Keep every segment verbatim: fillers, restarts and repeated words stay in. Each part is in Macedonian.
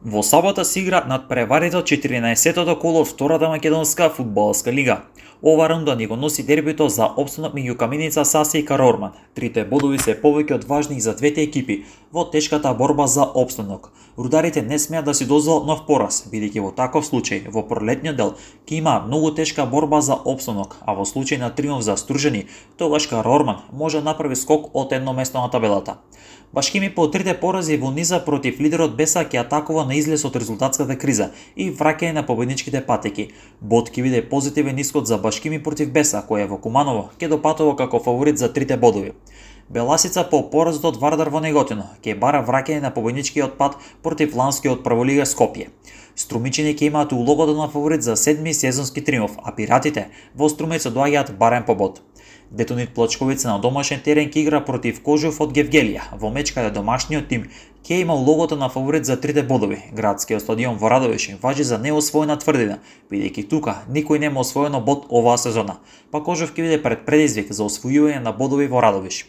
Во сабота се игра надпреварите од четиринаесеттото коло од втората македонска фудбалска лига. Ова рунда ни го носи дербито за опстанок меѓу Каменица, Сасе и Карорман. Трите бодови се повеќе од важни за двете екипи во тешката борба за опстанок. Рударите не смеат да си дозволат нов пораз, бидејќи во таков случај во пролетниот дел ќе има многу тешка борба за опстанок, а во случај на триумф за Стружени, тогаш Карорман може да направи скок од едно место на табелата. Башкими по трите порази во низа против лидерот Беса ќе атакува на излез од резултатската криза и враќање на победничките патеки. Бод ќе биде позитивен исход за Башкими против Беса, кој е во Куманово ќе допатува како фаворит за трите бодови. Беласица по поразот од Вардар во Неготино ќе бара враќање на победничкиот пат против ланскиот прволига Скопје. Струмичани ќе имаат улогата на фаворит за седми сезонски триумф, а пиратите во Струмец доаѓаат барем по бод. Детонит Плочковица на домашен терен ќе игра против Кожув од Гевгелија, во меч каде домашниот тим ќе има улогата на фаворит за трите бодови. Градскиот стадион во Радовиш важи за неосвоена тврдина, бидејќи тука никој нема освоено бод оваа сезона, па Кожув ќе биде пред предизвик за освојување на бодови во Радовиш.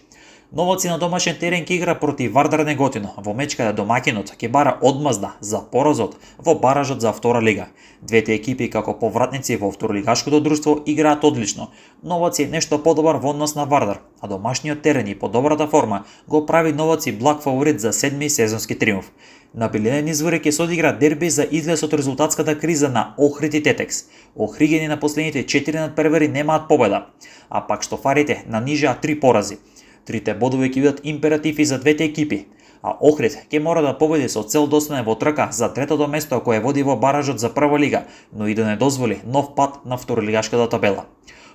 Новаци на домашен терен ќе игра против Вардар Неготино, во меч каде домакинот ќе бара одмазда за поразот во баражот за втора лига. Двете екипи како повратници во второлигашкото друштво играат одлично. Новаци е нешто подобар во однос на Вардар, а домашниот терен и по добрата форма го прави Новаци благ фаворит за седми сезонски триумф. На Билинен извори ќе се одигра дерби за излез од резултатската криза на Охрид и Тетекс. Охригени на последните четири надпревари немаат победа, а пак штофарите нанижаа три порази. Трите бодови ќе бидат императив и за двете екипи, а Охрид ќе мора да победи со цел да остане во трка за третото место кое води во баражот за прва лига, но и да не дозволи нов пат на второлигашката табела.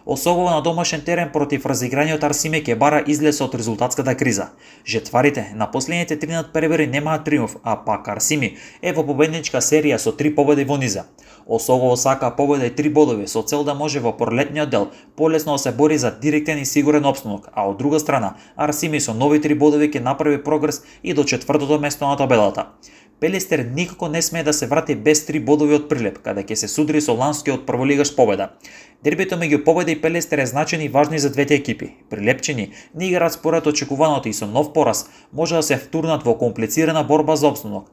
Осогова на домашен терен против разиграниот Арсиме ќе бара излез од резултатската криза. Жетварите на последните три надпревари немаат триумф, а пак Арсими е во победничка серија со три победи во низа. Осогово сака победа и три бодови со цел да може во пролетниот дел полесно да се бори за директен и сигурен опстанок, а од друга страна Арсими со нови три бодови ќе направи прогрес и до четвртото место на табелата. Пелестер никако не смее да се врати без три бодови од Прилеп, каде ќе се судри со ланскиот прволигаш Победа. Дербито меѓу Победа и Пелестер е значен и важни за двете екипи. Прилепчани не играат според очекуваното и со нов пораз може да се втурнат во комплицирана борба за опстанок.